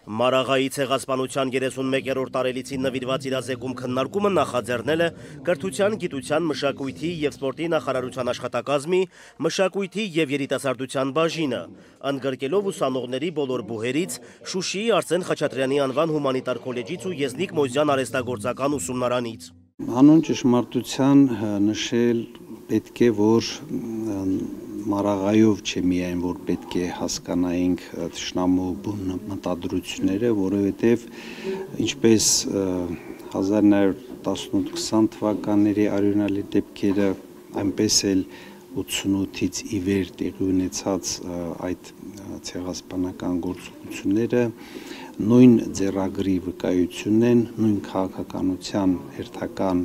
Մարաղայի ցեղասպանության 31-րդ տարելիցին նվիրված իրազեկում քննարկումը նախաձեռնել է Կրթության, գիտության, մշակույթի և սպորտի նախարարության աշխատակազմի մշակույթի և երիտասարդության բաժինը, ընդգրկելով ուսանողների բոլոր բուհերից, Շուշիի Արսեն Խաչատրյանի անվան հումանիտար քոլեջից ու Եզնիկ Մոզյան արհեստագործական ուսումնարանից։ Հանուն ճշմարտության նշել պետք է, որ Մարաղայով չէ միայն, որ պետք է հասկանայինք թշնամու բուն մտադրությունները, որովհետև ինչպես 1918-20 թվականների արյունալի դեպքերը, այնպես էլ 88-ից ի վեր տեղի ունեցած այդ ցեղասպանական գործողությունները նույն ձեռագրի վկայությունն են, նույն քաղաքականության հերթական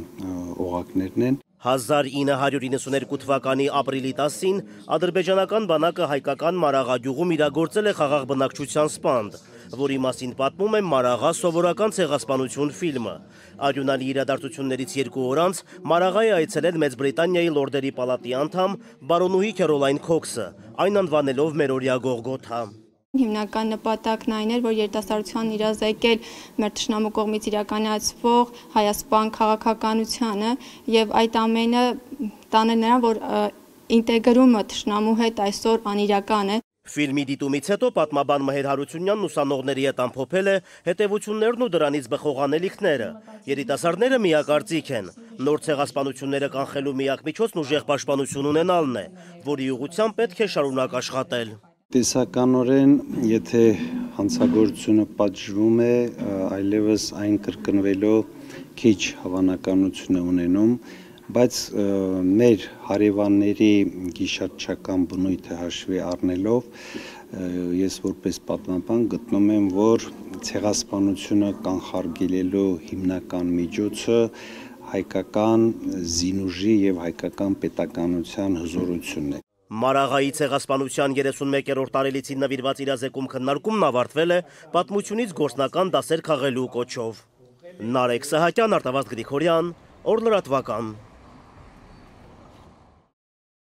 օղակներն են։ 1992 թվականի ապրիլի 10-ին ադրբեջանական բանակը հայկական Մարաղա գյուղում իրագործել է խաղաղ բնակչության սպանդ, որի մասին պատմում է Մարաղա սովորական ցեղասպանություն ֆիլմը։ Արյունալի իրադարձություններից 2 օր անց Մարաղա է այցելել Մեծ Բրիտանիայի լորդերի պալատի անդամ բարոնուհի Քերոլայն Քոքսը, այն անվանելով մերօրյա Գողգոթա։ Հիմնական նպատակն այն էր, որ երիտասարդության իրազեկել մեր թշնամու կողմից իրականացվող հայասպան քաղաքականությանը եւ այդ ամենը տանել նրան, որ ինտեգրումը թշնամու հետ այսօր անիրական է։ Ֆիլմի դիտումից հետո պատմաբան Մհեր Հարությունյանն ուսանողների հետ ամփոփել է հետևություններն ու դրանից բխող անելիքները։ Երիտասարդները միակարծիք են։ Նոր ցեղասպանությունները կանխելու միակ միջոցն ուժեղ պաշտպանություն ունենալն է, որի ուղղությամբ պետք է շարունակ աշխատել։ Տեսականորեն, եթե հանցագործությունը պատժվում է, այլևս այն կրկնվելով քիչ հավանականություն է ունենում, բայց մեր հարևանների գիշատչական բնույթը հաշվի առնելով, ես որպես պատմաբան գտնում եմ, որ ցեղասպանությունը կանխարգելելու հիմնական միջոցը հայկական զինուժի և հայկական պետականության հզորությունն է։ Մարաղայի ցեղասպանության 31-րդ տարելիցին նվիրված իրազեկում քննարկումն ավարտվել է պատմությունից գործնական դասեր քաղելու կոչով։ Նարեկ Սահակյան, Արտավազդ Գրիգորյան, Օր լրատվական։